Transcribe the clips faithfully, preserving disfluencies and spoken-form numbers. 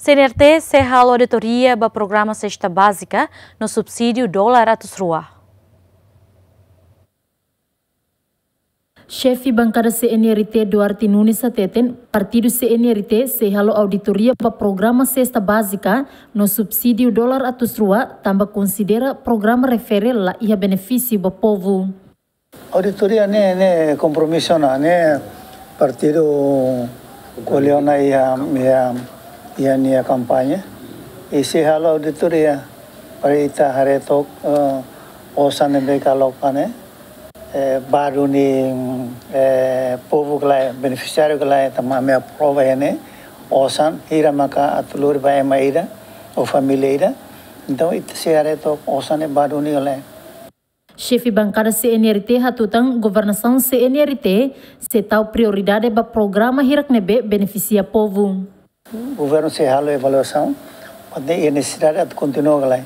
C N R T sei halo auditoria ba programa sesta bázika no subsídiu dolar atus rua. Xefe bankada C N R T Duarte Nunes hateten, partidu C N R T sei halo auditoria ba programa sesta bázika no subsídiu dolar atus rua, tanba konsidera programa refere la iha benefísiu ba povu. Auditoria ne'e, ne'e kompromisu ona, ne'e partidu ko'alia ona iha, iha, iha nia kampaña. I sei halo auditoria para ita haree took, eh, osan ne'ebé koloka ne'e, eh, ba duni, eh, povu ka lae, benefisiáriu ka lae, tanba ami aprova iha ne'e, osan hira maka atu lori ba ema ida ou família ida. Entaun, ita sei haree took osan ne'e ba duni ka lae. Xefe bankada C N R T hatutan governasaun C N R T sei tau prioridade ba programa hirak ne'ebé benefisia povu. Governu sei halo avaliasaun, mas ne'e iha nesesidade atu kontinua ka lae.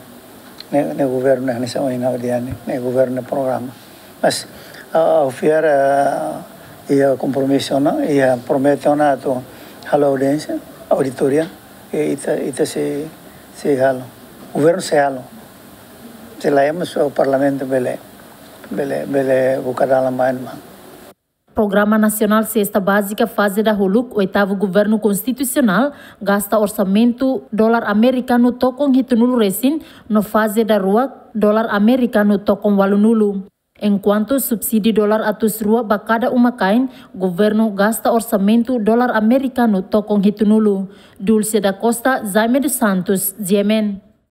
Ne'e, ne'e governu ne'e hanesan ohin ha'u dehan ne'e, ne'e governu ne'e programa. Mas, ah, ha'u fiar, ah, iha kompromisu ona, iha promete ona atu halo audiénsia, auditoria, i ita, ita sei, sei halo. Governu sei halo. Se lae mós o Parlamentu bele, bele, bele buka dalan ba ema. Programa Nasionál Sesta Bázika faze dahuluk oitavu Governu Konstitusionál gasta orsamentu dolar amerikanu tokon hitunulu resin, no faze daruak dolar amerikanu tokon ualunulu. Enkuantu subsídiu dolar atus rua ba kada uma-kain, governu gasta orsamentu dolar amerikanu tokon hitunulu. Dulce da Costa, Jaime dos Santos, G M N.